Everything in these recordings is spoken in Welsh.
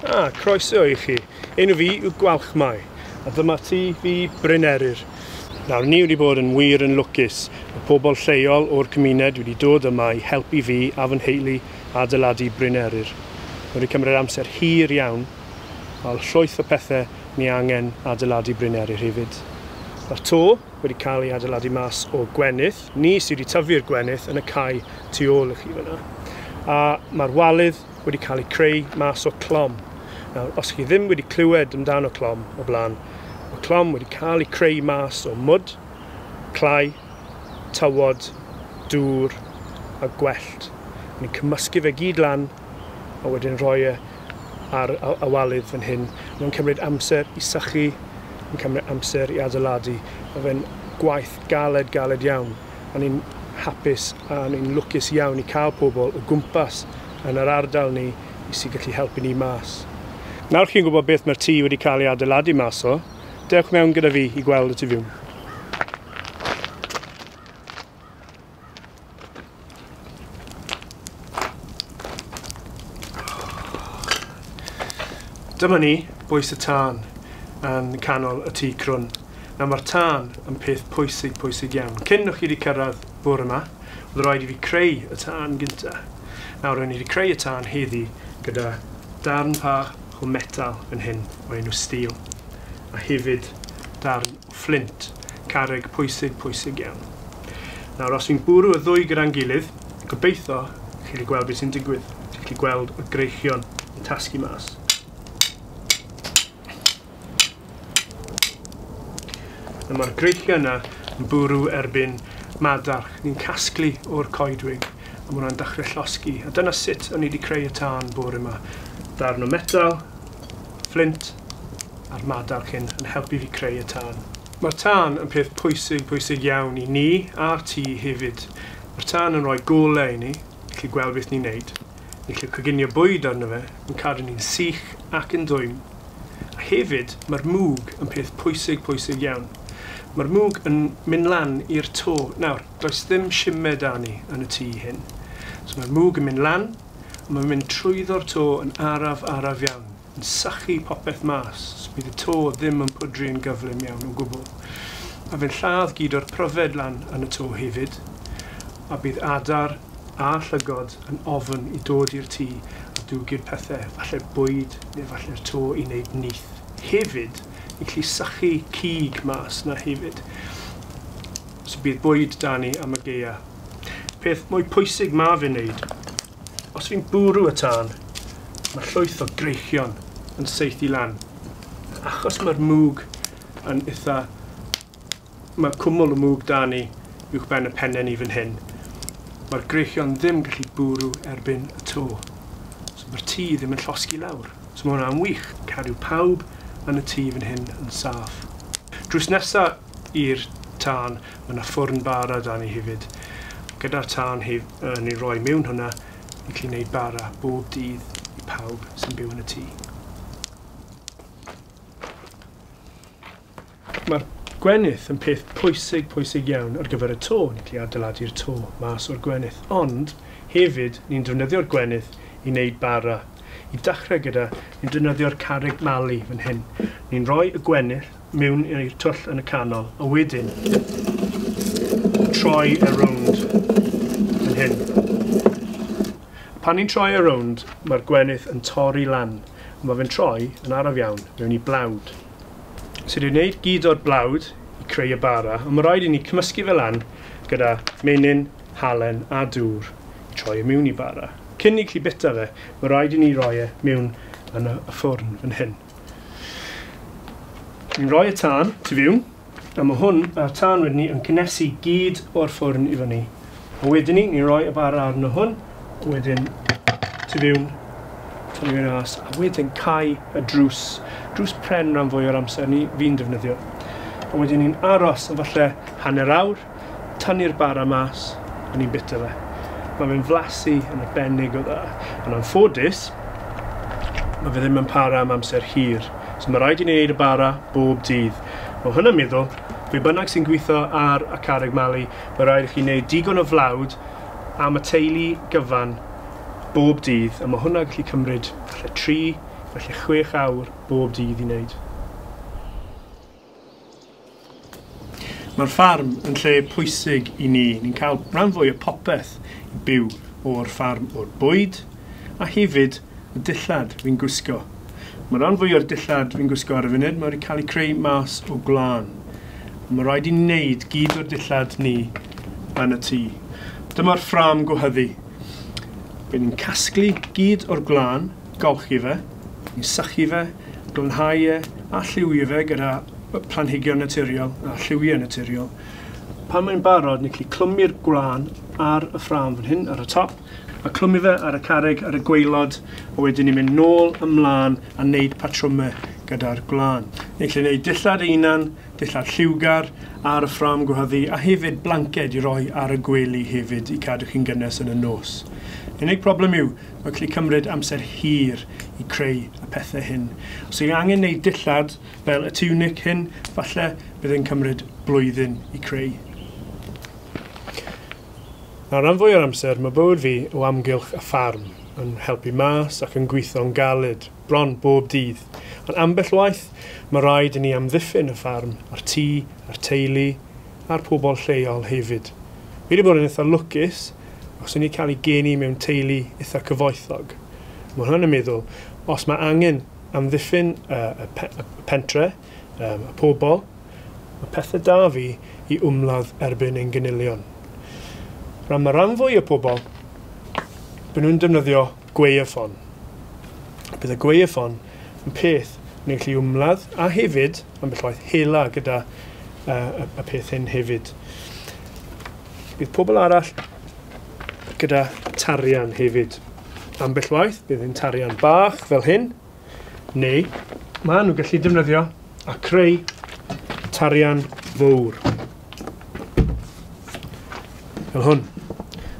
Ah, croeso i chi. Enw fi yw Gwalchmai, a dyma tŷ fi Bryn Eryr. Nawr, ni wedi bod yn wir yn lwcus. Mae pobl lleol o'r cymuned wedi dod yma i helpu fi a fy nheulu adeiladu Bryn Eryr. Mae wedi cymryd amser hir iawn, a llwyth o pethau ni angen adeiladu Bryn Eryr hefyd. Mae'r to wedi cael ei adeiladu mas o gwenith. Ni sydd wedi tyfu'r gwenith yn y cae tu ôl i chi fyna. A mae'r walydd wedi cael ei creu mas o clom. Nawr, os chi ddim wedi clywed amdano clom o blaen, mae clom wedi cael ei creu mas o mwd, clai, tywod, dŵr a gwellt. Ni'n cymysgu fe gyd lan a wedyn rhoi e ar y walydd fan hyn. Mae'n cymryd amser i sychu, mae'n cymryd amser i adeiladu. Mae fe'n gwaith galed, galed iawn. A ni'n hapus a ni'n lwcus iawn i cael pobl o gwmpas yn yr ardal ni i sy'n gallu helpu ni mas. Nawr chi'n gwybod beth mae'r tŷ wedi cael ei adeiladu mas o, dewch mewn gyda fi i gweld y tu fewn. Dyma ni, bwys y tân, yn canol y tŷ crwn. Nawr mae'r tân yn peth pwysig, pwysig iawn. Cyn o'ch chi wedi cyrraedd bore yma, oedd rhaid i fi creu y tân gynta. Nawr, o'n i wedi creu y tân heddi gyda darn bach o metal fan hyn, o'r enw steel, a hefyd darn o fflint, carreg pwysig, pwysig iawn. Nawr, os fi'n bwrw y ddwy gyda'n gilydd, gobeithio chi'n gallu gweld beth sy'n digwydd. Chi'n gallu gweld y greichion yn tasgu mas. Nawr, mae'r greichion yna yn bwrw erbyn madarch. Ni'n casglu o'r coedwig, a mae hwnna'n dechrau llosgi. A dyna sut o'n i wedi creu y tân bore yma. Darn o metal, fflint, a'r madarch hyn yn helpu fi creu y tân. Mae'r tân yn peth pwysig, pwysig iawn i ni a'r tŷ hefyd. Mae'r tân yn rhoi golau i ni, gallu gweld beth ni'n neud. Ni'n gallu coginio bwyd arno fe, yn cadw ni'n sych ac yn dwym. A hefyd, mae'r mwg yn peth pwysig, pwysig iawn. Mae'r mwg yn mynd lan i'r to. Nawr, does ddim shime 'da ni yn y tŷ hyn. So mae'r mwg yn mynd lan, a mae'n mynd trwyddo'r to yn araf, araf iawn, yn sychu popeth mas. So bydd y to ddim yn pwdru yn gyflym iawn o gwbl. A fe'n lladd gyd o'r pryfed lan yn y to hefyd, a bydd adar a llygod yn ofn i dod i'r tŷ a dwgy'r pethau, falle bwyd neu falle'r to i wneud nyth. Hefyd, ni'n gallu sychu cig mas na hefyd. So bydd bwyd 'da ni am y gaea. Peth mwy pwysig ma fe'n neud, os fi'n bwrw y tân, mae llwyth o greichion yn saethu lan. Achos mae'r mwg yn eitha... Mae cwmwl o mwg 'da ni uwchben y pennau ni fan hyn. Mae'r greichion ddim yn gallu bwrw erbyn y to. So mae'r tŷ ddim yn llosgi lawr. So mae hwnna'n wych. Cadw pawb yn y tŷ fan hyn yn saff. Drws nesa i'r tân, mae yna ffwrn bara 'da ni hefyd. Gyda'r tân ni'n rhoi mewn hwnna, ni'n gallu gwneud bara bob dydd i pawb sy'n byw yn y tŷ. Mae'r gwenith yn peth pwysig, pwysig iawn ar gyfer y to. Ni'n gallu adeiladu'r to mas o'r gwenith. Ond hefyd, ni'n defnyddio'r gwenith i wneud bara. I dechrau gyda, ni'n defnyddio'r carreg malu fan hyn. Ni'n rhoi y gwenith mewn i'r twll yn y canol, a wedyn troi e rownd fan hyn. Pan ni'n troi e rownd, mae'r gwenith yn torri lan. A mae fe'n troi yn araf iawn mewn i blawd. So ni'n gwneud gyd o'r blawd i creu y bara, ond mae rhaid i ni cymysgu fe lan gyda menyn, halen a dŵr i troi e mewn i bara. Cyn i chi bita fe, mae rhaid i ni roi e mewn yn y ffwrn fan hyn. Ni'n rhoi y tân tu fewn, a mae hwn, a'r tân wedyn ni, yn cynnesu gyd o'r ffwrn i fyny. A wedyn ni, ni'n rhoi y bara arno hwn, a wedyn tu fewn, tynnu fe mas, a wedyn cau y drws. Drws pren rhan fwy o'r amser ni, fi'n defnyddio. A wedyn ni'n aros am falle hanner awr, tynnu'r bara mas, a ni'n bita fe. Mae fe'n flasu yn arbennig o dda. Yn anffodus, mae fe ddim yn para am amser hir. So mae rhaid i ni wneud y bara bob dydd. Mae hwnna'n meddwl, pwy bynnag sy'n gweithio ar y carreg malu, mae rhaid i chi wneud digon o flawd am y teulu gyfan bob dydd, a mae hwnna gallu cymryd falle 3 Felly 6 awr bob dydd i wneud. Mae'r ffarm yn lle pwysig i ni. Ni'n cael rhan fwy o popeth i byw o'r ffarm, o'r bwyd a hefyd y dillad fi'n gwisgo. Mae rhan fwy o'r dillad fi'n gwisgo ar y funud, mae wedi cael ei creu mas o gwlân. Mae rhaid i ni wneud gyd o'r dillad ni yn y tŷ. Dyma'r ffrâm gwehyddu. Bydd ni'n casglu gyd o'r gwlân, golchi fe, ni'n sychu fe, glanhau e a lliwio fe gyda planhigion naturiol a lliwiau naturiol. Pan mae'n barod, ni'n gallu clwmu'r gwlân ar y ffrâm fan hyn, ar y top, a clwmu fe ar y carreg, ar y gwaelod, a wedyn ni'n mynd nôl ymlaen a wneud patrymau gyda'r gwlân. Ni'n gallu gwneud dillad ein hunan, dillad lliwgar ar y ffrâm gwehyddu, a hefyd blanced i roi ar y gwely hefyd i cadw chi'n gynnes yn y nos. Unig problem yw, mae'n gallu cymryd amser hir i creu y pethau hyn. Os yw'n angen gwneud dillad fel y tunic hyn, falle bydd e'n cymryd blwyddyn i creu. Nawr, rhan fwy o'r amser, mae bywyd fi o amgylch y ffarm, yn helpu mas ac yn gweithio'n galed, bron bob dydd. Ond ambell waith, mae rhaid i ni amddiffyn y ffarm, a'r tŷ, a'r teulu, a'r pobl lleol hefyd. Fi wedi bod yn eitha lwcus, os o'n i cael ei geni mewn teulu eitha cyfoethog. Mae hwn yn meddwl, os mae angen amddiffyn y pentre, y pobl, mae pethau da fi i ymladd erbyn ein gynilion. Rhan mae rhan fwy o pobl, byd nhw'n defnyddio gwaywffon. Bydd y gwaywffon yn peth ni'n gallu ymladd a hefyd, ambell waith, hela gyda y peth hyn hefyd. Bydd pobl arall gyda tarian hefyd. Ambell waith, bydd yn tarian bach fel hyn, neu maen nhw'n gallu defnyddio a creu tarian fawr. Fel hwn.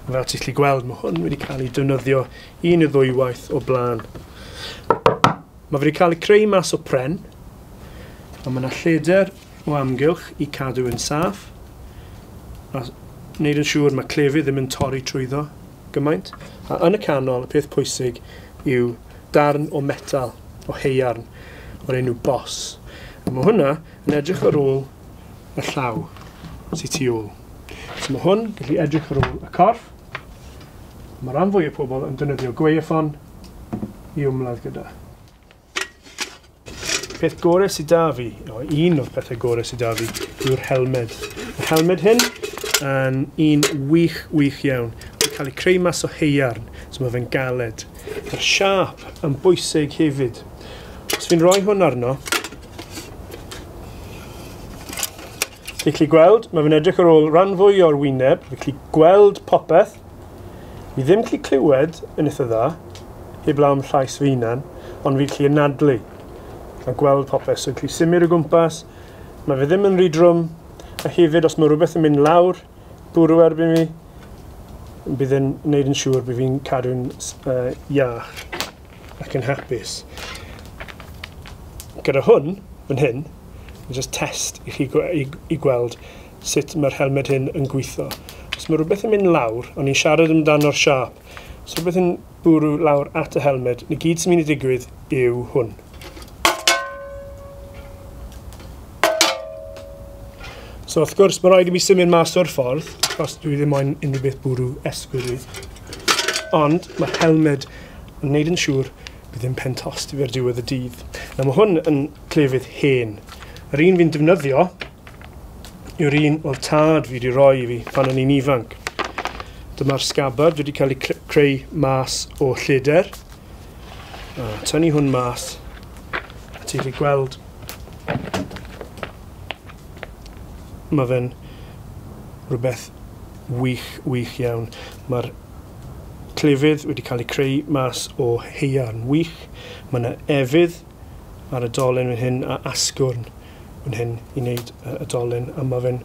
A fel ti'n gallu gweld, mae hwn wedi cael ei defnyddio un neu ddwy waith o blaen. Mae wedi cael ei creu mas o pren, a mae yna lledr o amgylch i cadw yn saff, a wneud yn siŵr mae clefyd ddim yn torri trwyddo gymaint. A yn y canol, y peth pwysig yw darn o metal, o haearn, o'r enw bos. A mae hwnna yn edrych ar ôl y llaw sydd tu ôl. So mae hwn gallu edrych ar ôl y corff. Mae rhan fwy o pobl yn defnyddio gwaywffon i ymladd gyda. Peth gorau sydd da fi, o, un o'r pethau gorau sydd da fi, yw'r helmed. Y helmed hyn yn un wych, wych iawn. Mae'n cael ei creu mas o haearn, so mae fe'n galed. Mae'r siâp yn bwysig hefyd. Os fi'n rhoi hwn arno, ti'n gallu gweld, mae fe'n edrych ar ôl rhan fwy o'r wyneb, fi'n gallu gweld popeth. Fi ddim gallu clywed yn eitha dda, heblaw am llais fy hunan, ond fi'n gallu anadlu a gweld popeth. So fi'n gallu symud o gwmpas, mae fe ddim yn rhy drwm, a hefyd os mae rhywbeth yn mynd lawr, bwrw erbyn fi, bydd yn gwneud yn siŵr bydd fi'n cadw'n iach ac yn hapus. Gyda hwn, fan hyn, just test i chi i gweld sut mae'r helmed hyn yn gweithio. Os mae rhywbeth yn mynd lawr, o'n i'n siarad amdano'r siâp, os rhywbeth yn bwrw lawr at y helmed, na gyd sy'n mynd i digwydd yw hwn. So wrth gwrs, mae rhaid i mi symud mas o'r ffordd, achos dwi ddim moyn unrhyw beth bwrw esgwyr fi. Ond mae'r helmed yn gwneud yn siŵr bydd ddim pen tost i fi ar diwedd y dydd. Nawr mae hwn yn clefyd hen. Yr un fi'n defnyddio yw'r un oedd tad fi wedi rhoi i fi pan o'n i'n ifanc. Dyma'r sgabbard wedi cael ei creu mas o lledr. A tynnu hwn mas, a ti'n gallu gweld mae fe'n rhywbeth wych, wych iawn. Mae'r clefyd wedi cael ei creu mas o haearn wych. Mae yna efydd ar y dolen fan hyn a asgwrn fan hyn i wneud y dolen. A mae fe'n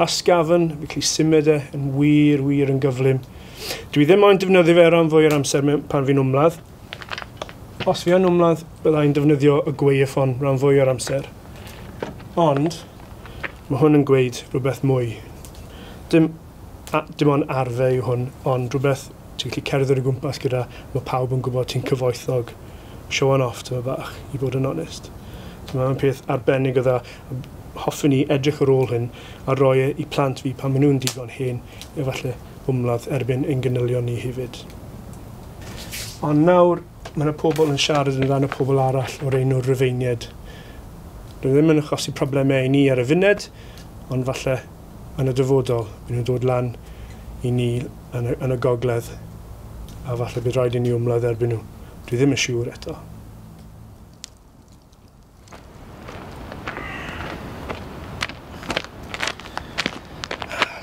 ysgafn, fi'n gallu symud e yn wir, wir yn gyflym. Dwi ddim moyn defnyddio fe rhan fwy o'r amser pan fi'n ymladd. Os fi yn ymladd, byddai'n defnyddio y gwaywffon rhan fwy o'r amser. Ond mae hwn yn gweud rhywbeth mwy. Dim ond arfer yw hwn, ond rhywbeth ti'n gallu cerdded o gwmpas gyda, mae pawb yn gwybod ti'n cyfoethog. Showan off tyma bach, i bod yn onest. So mae'n peth arbennig o dda. Hoffwn i edrych ar ôl hyn a roi e i plant fi pan maen nhw'n digon hen, efallai ymladd erbyn ein ganylion ni hefyd. Ond nawr, mae yna pobl yn siarad yn rhan o pobl arall o'r enw Rufeiniaid. Dwi ddim yn achosi problemau i ni ar y funed, ond falle yn y dyfodol, byd nhw'n dod lan i ni yn y, yn y gogledd, a falle bydd rhaid i ni ymladd erbyn nhw. Dwi ddim yn siŵr eto.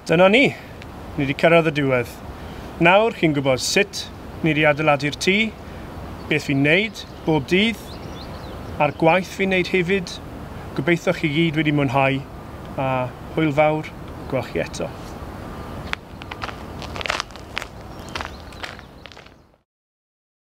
Dyna ni. Ni wedi cyrraedd y diwedd. Nawr chi'n gwybod sut ni wedi adeiladu'r tŷ, beth fi'n neud bob dydd, a'r gwaith fi'n neud hefyd. Gobeithio chi gyd wedi mwynhau, a hwyl fawr, gwel chi eto.